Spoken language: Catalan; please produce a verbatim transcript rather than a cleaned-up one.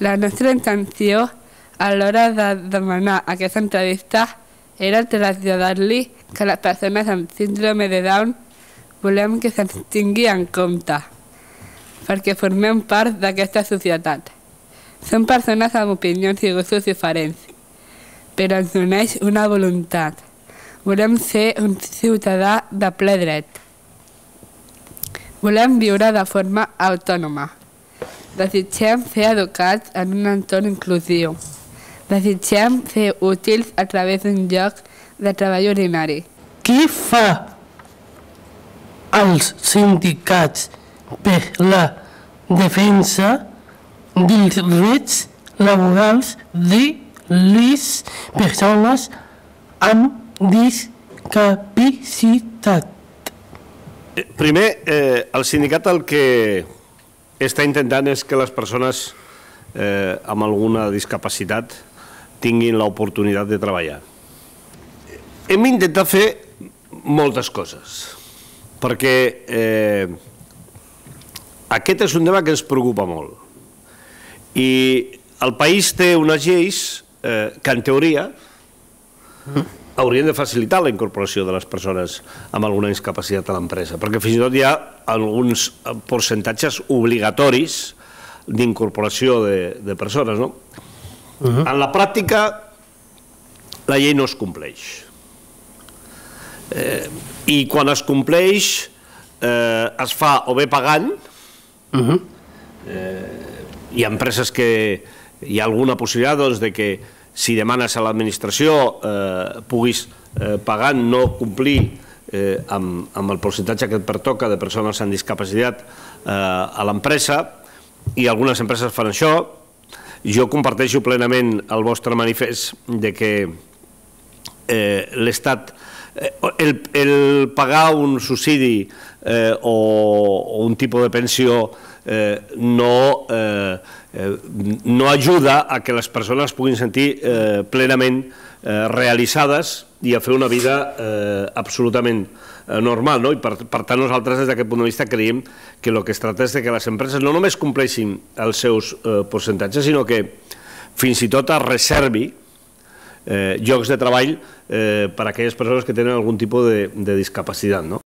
La nostra intenció a l'hora de demanar aquesta entrevista era traslladar-li que les persones amb síndrome de Down volem que se'ns tingui en compte, perquè formem part d'aquesta societat. Som persones amb opinions i gustos diferents, però ens uneix una voluntat. Volem ser un ciutadà de ple dret. Volem viure de forma autònoma. Desitgem ser educats en un entorn inclusiu. Desitgem ser útils a través d'un lloc de treball ordinari. Què fa els sindicats per la defensa dels drets laborals de les persones amb discapacitat? Primer, eh, el sindicat el que està intentant és que les persones eh, amb alguna discapacitat tinguin l'oportunitat de treballar. Hem intentat fer moltes coses, perquè eh, aquest és un tema que ens preocupa molt. I el país té unes lleis eh, que, en teoria, haurien de facilitar la incorporació de les persones amb alguna discapacitat a l'empresa, perquè fins i tot hi ha alguns percentatges obligatoris d'incorporació de, de persones, no? Uh-huh. En la pràctica, la llei no es compleix. Eh, I quan es compleix, eh, es fa o bé pagant, uh-huh. eh, hi ha empreses que hi ha alguna possibilitat doncs, de que si demanes a l'administració eh, puguis eh, pagant no complir eh, amb, amb el percentatge que et pertoca de persones amb discapacitat eh, a l'empresa, i algunes empreses fan això. Jo comparteixo plenament el vostre manifest de que eh, l'Estat, eh, el, el pagar un subsidi eh, o, o un tipus de pensió eh, no, eh, eh, no ajuda a que les persones puguin sentir eh, plenament eh, realitzades i a fer una vida eh, absolutament eh, normal, no? I per, per tant nosaltres des d'aquest punt de vista creiem que el que es tracta és de que les empreses no només compleixin els seus eh, percentatges, sinó que fins i tot es reservi eh, llocs de treball eh, per a aquelles persones que tenen algun tipus de, de discapacitat, no?